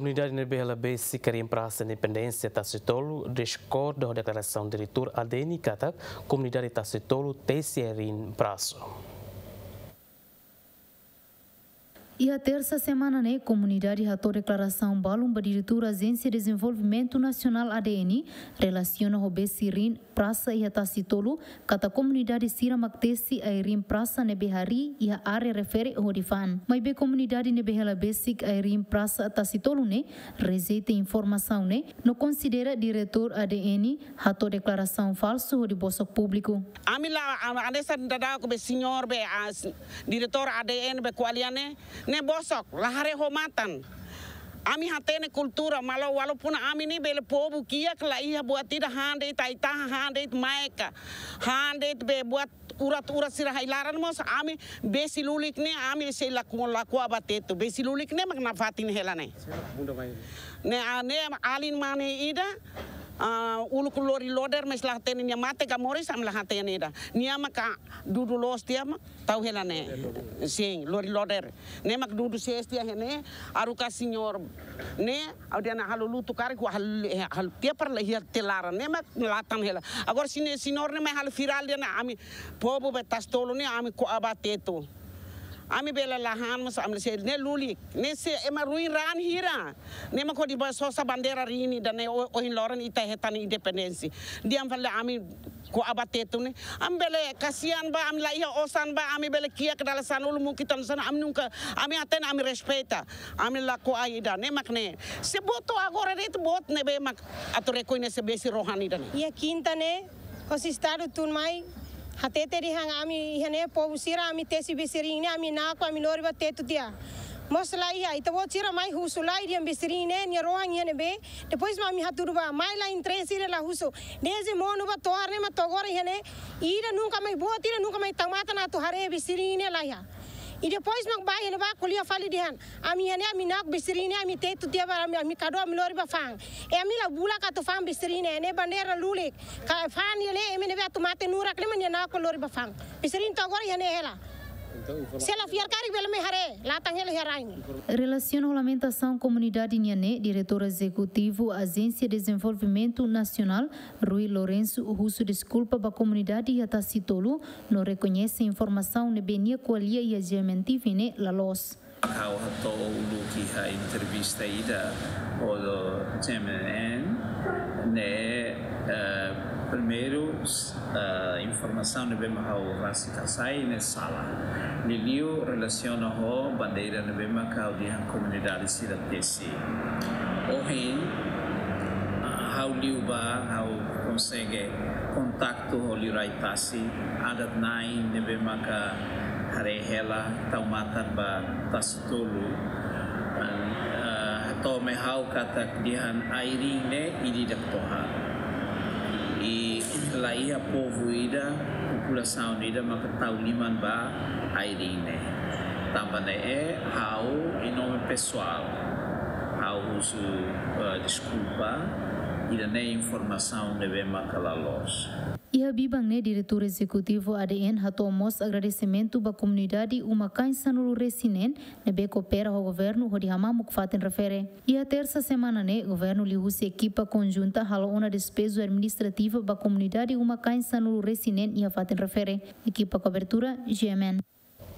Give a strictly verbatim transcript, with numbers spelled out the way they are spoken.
Komunidade ne'ebé hela besik riin Prasa Independénsia Tasitolu diskorda ho deklarasaun diretór A D N katak komunidade Tasitolu tesi riin prasa. Iha tersa semana ne'e, komunidade hato'o deklarasaun balun ba diretór Ajénsia Dezenvolvimentu Nasionál A D N relasiona ho besik riin prasa iha Tasitolu, katak komunidade sira mak tesi ai-riin prasa ne'ebé harii iha área refere hodi fa'an. Maibé komunidade ne'ebé hela besik ai-riin prasa Tasitolu ne'e rejeita informasaun ne'e, no konsidera diretór A D N hato'o deklarasaun falsu hodi bosok públiku. Ami la, a-, hanesan daudauk be señór be, a, s-, diretór A D N be ko'alia ne'e, ne'e bosok, la haree ho matan. Ami hatene kultura, maibé walaupun ami ne'e bele povu kiak la iha buat ida, han de'it ai-tahan, han de'it maika, han de'it be buat urat-urat sira ha'u laran mós, ami besi lulik ne'e, ami sei lakohi, lakohi ba tetu. Besi lulik ne'e mak nafatin hela ne'e. Ne'e, a, ne'e alin mane ida, a, uluk lori loader, mas la hatene nia mate ka moris, ami la hatene ida. Nia maka dudu loos tiha mak tau hela ne'e. Sin, lori loader. Ne'e mak dudu sees tiha iha ne'e, haruka señór ne'e, ha'u dehan halo lutu karik, ha'u hal-, hal-, tiha para la iha tiha laran. Ne'e mak latan hela. Agora sine-, señór ne'e mai halo virál dehan ami povu be Tasitolu ne'e ami ko'a ba tetu. Ami bele la han, mas ami sei ne'e lulik. Ne'e se ema ruin raan hira. Ne'e mak hodi ba sosa bandeira riin ida ne'e o-, ohin loron ita hetan independénsia. Dehan fali ami ko'a ba tetu ne'e. Ami bele kasihan ba, ami la iha osan ba, ami bele kiak dala sanulu mungkin tan sana, ami nunka, ami hatene, ami respeita. Ami la ko'a ida, ne'e mak ne'e. Se boot agora de'it boot ne'ebé mak atu rekoñese besik rohan ida ne'e. Iha kinta ne'e, hosi estadu tun mai, hatete dehan ami iha ne'e povu sira ami tesi besik riin ne'e ami na'ok ami lori ba tetu tiha. Mós la iha, ita-boot sira mai husu lai dehan besik riin ne'e nia rohan iha ne'ebé. Depois mak ami hatudu ba, mai la interese ida la husu. Dezde monu ba to'o agora ne'e mak to'o agora iha ne'e. Ida nunka mai boot, ida nunka mai tau matan atu haree besik riin ne'e la iha. I depois mak ba iha ne'ebá ko'alia fali dehan. Ami iha ne'e ami na'ok besik riin ne'e ami tetu tiha ba ami, ami kadu ami lori ba fa'an. I ami la bulak atu fa'an besik riin ne'e, ne'e bandeira lulik. Ka fa'an iha ne'e ema ne'ebé atu mate nurak ne'e mak nia na'ok lori ba fa'an. Besik riin to'o agora iha ne'e hela. Se la fiar karik bele mai haree, latan hela iha rai ne'e. Relasiona ho lamentasaun komunidade nian ne'e, diretór ezekutivu Ajénsia Dezenvolvimentu Nasionál, Rui Lourenço, husu deskulpa ba komunidade iha Tasitolu, no rekoñese informasaun ne'ebé nia ko'alia iha G M N T V ne'e la loos. Ha'u hato'o uluk iha entrevista ida ho G M N ne'e, eh, primeiru, eh, informasaun ne'ebé mak ha'u rasik hasai ne'e sala. Liuliu relasiona ho bandeira ne'ebé mak ha'u dehan komunidade sira tesi. Ohin, ah, ha'u liu ba, ha'u konsege kontaktu ho liurai tasi, adat-na'in ne'ebé maka haree hela tau matan ba Tasitolu. Ah, hato'o mai ha'u katak dehan ai-riin ne'e ida-idak to'o han. I la iha povu ida, populasaun ida maka tau liman ba ai-riin ne'e. Tanba ne'e ha'u em nome pessoal, ha'u husu, eh, deskulpa, ida-ne'e informasaun ne'ebé maka la loos. Iha biban ne'e diretór ezekutivu A D N hato'o mós agradesimentu ba komunidade uma-kain sanulu-resin-neen ne'ebé koopera ho governu hodi hamamuk fatin refere. Iha tersa semana ne'e, governu liuhusi ekipa konjunta halo ona despeju administrativa ba komunidade uma-kain sanulu-resin-neen iha fatin refere. Ekipa kobertura, G M N.